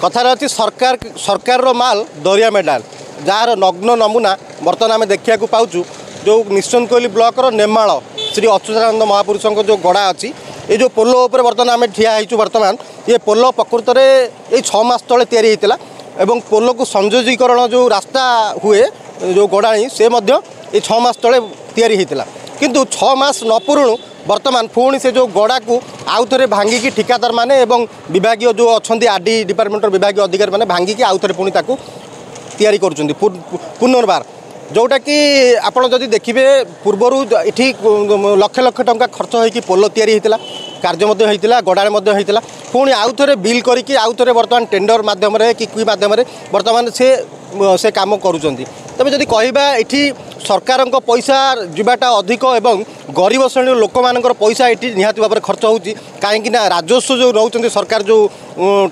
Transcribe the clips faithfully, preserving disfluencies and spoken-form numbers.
କଥାରେ ଅଛି ସରକାର ସରକାରର ମାଲ ଦରିଆ ମେଡାଲ ଯାହାର ନଗ୍ନ ନମୁନା ବର୍ତ୍ତମାନ ଆମେ ଦେଖିବାକୁ ପାଉଛୁ ଯେଉଁ ନିଶ୍ଚିନ୍ତକୋଇଲି ବ୍ଲକର ନେମାଳ ଶ୍ରୀ ଅଚ୍ୟୁତାନନ୍ଦ ମହାପୁରୁଷଙ୍କ ଯେଉଁ ଗଡ଼ା ଅଛି ଏଇ ଯେଉଁ ପୋଲ ଉପରେ ବର୍ତ୍ତମାନ ଆମେ ଠିଆ ହେଇଛୁ ବର୍ତ୍ତମାନ ଏ ପୋଲ ପ୍ରକୃତରେ ଏଇ ଛଅ ମାସ ତଳେ ତିଆରି ହେଇଥିଲା ଏବଂ ପୋଲକୁ ସଂଯୋଗୀକରଣ ଯେଉଁ ରାସ୍ତା ହୁଏ ଯେଉଁ ଗଡ଼ାଣି ସେ ମଧ୍ୟ ଏଇ ଛଅ ମାସ ତଳେ ତିଆରି ହେଇଥିଲା କିନ୍ତୁ ଛଅ ମାସ ନ ପୂରୁଣୁ ବର୍ତ୍ତମାନ ପୁଣି ସେ ଯେଉଁ ଗଡ଼ାକୁ ଆଉ ଥରେ ଭାଙ୍ଗିକି ଠିକାଦାରମାନେ ଏବଂ ବିଭାଗୀୟ ଯେଉଁ ଅଛନ୍ତି ଆର୍ ଡି ଡିପାର୍ଟମେଣ୍ଟର ବିଭାଗୀୟ ଅଧିକାରୀମାନେ ଭାଙ୍ଗିକି ଆଉ ଥରେ ପୁଣି ତାକୁ ତିଆରି କରୁଛନ୍ତି ପୁନର୍ବାର ଯେଉଁଟାକି ଆପଣ ଯଦି ଦେଖିବେ ପୂର୍ବରୁ ଏଠି ଲକ୍ଷ ଲକ୍ଷ ଟଙ୍କା ଖର୍ଚ୍ଚ ହୋଇକି ପୋଲ ତିଆରି ହେଇଥିଲା କାର୍ଯ୍ୟ ମଧ୍ୟ ହେଇଥିଲା ଗଡ଼ାଣ ମଧ୍ୟ ହେଇଥିଲା ପୁଣି ଆଉ ଥରେ ବିଲ୍ କରିକି ଆଉ ଥରେ ବର୍ତ୍ତମାନ ଟେଣ୍ଡର ମାଧ୍ୟମରେ କି କି ମାଧ୍ୟମରେ ବର୍ତ୍ତମାନ ସେ ସେ କାମ କରୁଛନ୍ତି ତେବେ ଯଦି କହିବା ଏଠି ସରକାରଙ୍କ ପଇସା ଯିବାଟା ଅଧିକ ଏବଂ ଗରିବ ଶ୍ରେଣୀର ଲୋକମାନଙ୍କର ପଇସା ଏଠି ନିହାତି ଭାବରେ ଖର୍ଚ୍ଚ ହେଉଛି କାହିଁକି ନା ରାଜସ୍ୱ ଯେଉଁ ନେଉଛନ୍ତି ସରକାର ଯେଉଁ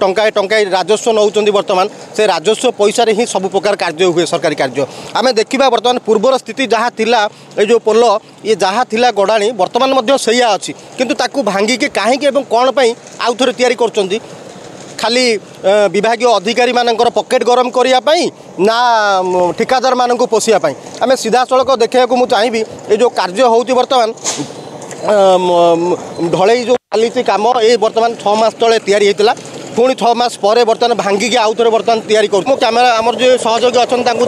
ଟଙ୍କାଏ ଟଙ୍କାଏ ରାଜସ୍ୱ ନେଉଛନ୍ତି ବର୍ତ୍ତମାନ ସେ ରାଜସ୍ୱ ପଇସାରେ ହିଁ ସବୁ ପ୍ରକାର କାର୍ଯ୍ୟ ହୁଏ ସରକାରୀ କାର୍ଯ୍ୟ ଆମେ ଦେଖିବା ବର୍ତ୍ତମାନ ପୂର୍ବର ସ୍ଥିତି ଯାହା ଥିଲା ଏଇ ଯେଉଁ ପୋଲ ଇଏ ଯାହା ଥିଲା ଗଡ଼ାଣି ବର୍ତ୍ତମାନ ମଧ୍ୟ ସେଇଆ ଅଛି କିନ୍ତୁ ତାକୁ ଭାଙ୍ଗିକି କାହିଁକି ଏବଂ କ'ଣ ପାଇଁ ଆଉ ଥରେ ତିଆରି କରୁଛନ୍ତି ଖାଲି ବିଭାଗୀୟ ଅଧିକାରୀମାନଙ୍କର ପକେଟ୍ ଗରମ କରିବା ପାଇଁ ନା ଠିକାଦାରମାନଙ୍କୁ ପୋଷିବା ପାଇଁ ଆମେ ସିଧାସଳଖ ଦେଖିବାକୁ ମୁଁ ଚାହିଁବି ଏ ଯେଉଁ କାର୍ଯ୍ୟ ହେଉଛି ବର୍ତ୍ତମାନ ଢଳେଇ ଯେଉଁ ଚାଲିଛି କାମ ଏଇ ବର୍ତ୍ତମାନ ଛଅ ମାସ ତଳେ ତିଆରି ହେଇଥିଲା ପୁଣି ଛଅ ମାସ ପରେ ବର୍ତ୍ତମାନ ଭାଙ୍ଗିକି ଆଉ ଥରେ ବର୍ତ୍ତମାନ ତିଆରି କରୁଛୁ ମୁଁ କ୍ୟାମେରା ଆମର ଯେଉଁ ସହଯୋଗୀ ଅଛନ୍ତି ତାଙ୍କୁ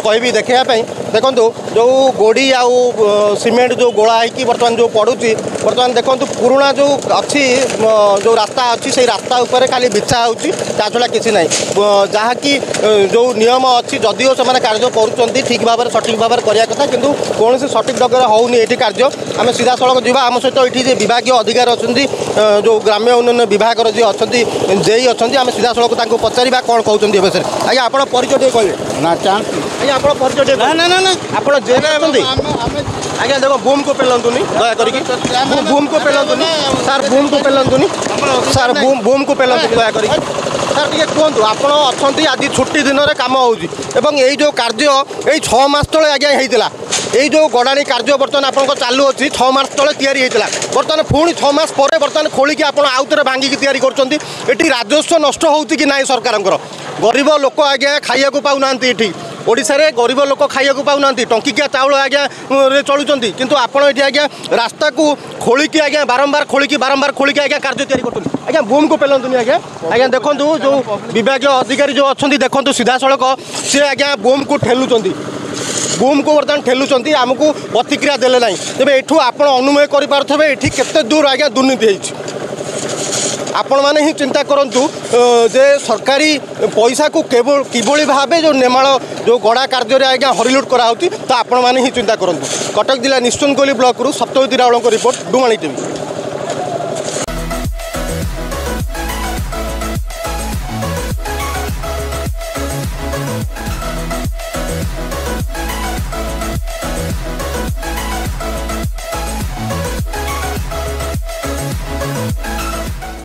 କହିବି ଦେଖାଇବା ପାଇଁ ଦେଖନ୍ତୁ ଯେଉଁ ଗୋଡ଼ି ଆଉ ସିମେଣ୍ଟ ଯେଉଁ ଗୋଳା ହେଇକି ବର୍ତ୍ତମାନ ଯେଉଁ ପଡ଼ୁଛି ବର୍ତ୍ତମାନ ଦେଖନ୍ତୁ ପୁରୁଣା ଯେଉଁ ଅଛି ଯେଉଁ ରାସ୍ତା ଅଛି ସେଇ ରାସ୍ତା ଉପରେ ଖାଲି ବିଛା ହେଉଛି ତା ଛଡ଼ା କିଛି ନାହିଁ ଯାହାକି ଯେଉଁ ନିୟମ ଅଛି ଯଦିଓ ସେମାନେ କାର୍ଯ୍ୟ କରୁଛନ୍ତି ଠିକ୍ ଭାବରେ ସଠିକ୍ ଭାବରେ କରିବା କଥା କିନ୍ତୁ କୌଣସି ସଠିକ୍ ଢଙ୍ଗରେ ହେଉନି ଏଠି କାର୍ଯ୍ୟ ଆମେ ସିଧାସଳଖ ଯିବା ଆମ ସହିତ ଏଠି ଯେ ବିଭାଗୀୟ ଅଧିକାରୀ ଅଛନ୍ତି ଯେଉଁ ଗ୍ରାମ୍ୟ ଉନ୍ନୟନ ବିଭାଗର ଯିଏ ଅଛନ୍ତି ଜେଇ ଅଛନ୍ତି ଆମେ ସିଧାସଳଖ ତାଙ୍କୁ ପଚାରିବା କ'ଣ କହୁଛନ୍ତି ଏ ବିଷୟରେ ଆଜ୍ଞା ଆପଣ ପରିଚୟ ଟିକେ କହିବେ ନା ଚାନ୍ସ ଆଜ୍ଞା ଆପଣ ପରିଚୟ ଟିକେ ନା ନା ନା ନା ଆପଣ ଜେଇ ଅଛନ୍ତି ଆଜ୍ଞା ଦେଖ ବୁମ୍କୁ ପେଲନ୍ତୁନି ଦୟା କରିକି ବୁମ୍କୁ ପେଲନ୍ତୁନି ସାର୍ ବୁମ୍କୁ ପେଲନ୍ତୁନି ସାର୍ ବୁମ୍ ବୁମ୍କୁ ପେଲନ୍ତୁନି ଦୟା କରିକି ସାର୍ ଟିକେ କୁହନ୍ତୁ ଆପଣ ଅଛନ୍ତି ଆଜି ଛୁଟି ଦିନରେ କାମ ହେଉଛି ଏବଂ ଏଇ ଯେଉଁ କାର୍ଯ୍ୟ ଏଇ ଛଅ ମାସ ତଳେ ଆଜ୍ଞା ହେଇଥିଲା ଏଇ ଯେଉଁ ଗଡ଼ାଣି କାର୍ଯ୍ୟ ବର୍ତ୍ତମାନ ଆପଣଙ୍କ ଚାଲୁଅଛି ଛଅ ମାସ ତଳେ ତିଆରି ହେଇଥିଲା ବର୍ତ୍ତମାନ ପୁଣି ଛଅ ମାସ ପରେ ବର୍ତ୍ତମାନ ଖୋଳିକି ଆପଣ ଆଉ ଥରେ ଭାଙ୍ଗିକି ତିଆରି କରୁଛନ୍ତି ଏଠି ରାଜସ୍ୱ ନଷ୍ଟ ହେଉଛି କି ନାହିଁ ସରକାରଙ୍କର ଗରିବ ଲୋକ ଆଜ୍ଞା ଖାଇବାକୁ ପାଉନାହାନ୍ତି ଏଠି ଓଡ଼ିଶାରେ ଗରିବ ଲୋକ ଖାଇବାକୁ ପାଉନାହାନ୍ତି ଟଙ୍କିକିଆ ଚାଉଳ ଆଜ୍ଞା ରେ ଚଳୁଛନ୍ତି କିନ୍ତୁ ଆପଣ ଏଠି ଆଜ୍ଞା ରାସ୍ତାକୁ ଖୋଳିକି ଆଜ୍ଞା ବାରମ୍ବାର ଖୋଳିକି ବାରମ୍ବାର ଖୋଳିକି ଆଜ୍ଞା କାର୍ଯ୍ୟ ତିଆରି କରୁଛନ୍ତି ଆଜ୍ଞା ବୁମ୍କୁ ପେଲନ୍ତୁନି ଆଜ୍ଞା ଆଜ୍ଞା ଦେଖନ୍ତୁ ଯେଉଁ ବିଭାଗୀୟ ଅଧିକାରୀ ଯେଉଁ ଅଛନ୍ତି ଦେଖନ୍ତୁ ସିଧାସଳଖ ସେ ଆଜ୍ଞା ବୁମ୍କୁ ଠେଲୁଛନ୍ତି ବୁମ୍କୁ ବର୍ତ୍ତମାନ ଠେଲୁଛନ୍ତି ଆମକୁ ପ୍ରତିକ୍ରିୟା ଦେଲେ ନାହିଁ ତେବେ ଏଠୁ ଆପଣ ଅନୁମେୟ କରିପାରୁଥିବେ ଏଠି କେତେ ଦୂର ଆଜ୍ଞା ଦୁର୍ନୀତି ହେଇଛି ଆପଣମାନେ ହିଁ ଚିନ୍ତା କରନ୍ତୁ ଯେ ସରକାରୀ ପଇସାକୁ କେବଳ କିଭଳି ଭାବେ ଯେଉଁ ନେମାଳ ଯେଉଁ ଗଡ଼ା କାର୍ଯ୍ୟରେ ଆଜ୍ଞା ହରିଲୁଟ୍ କରାହେଉଛି ତ ଆପଣମାନେ ହିଁ ଚିନ୍ତା କରନ୍ତୁ କଟକ ଜିଲ୍ଲା ନିଶ୍ଚିନ୍ତକୋଇଲି ବ୍ଲକରୁ ସପ୍ତଜ୍ୟୋତି ରାଉଳଙ୍କ ରିପୋର୍ଟ ଡୁମାଣି ଟିଭି।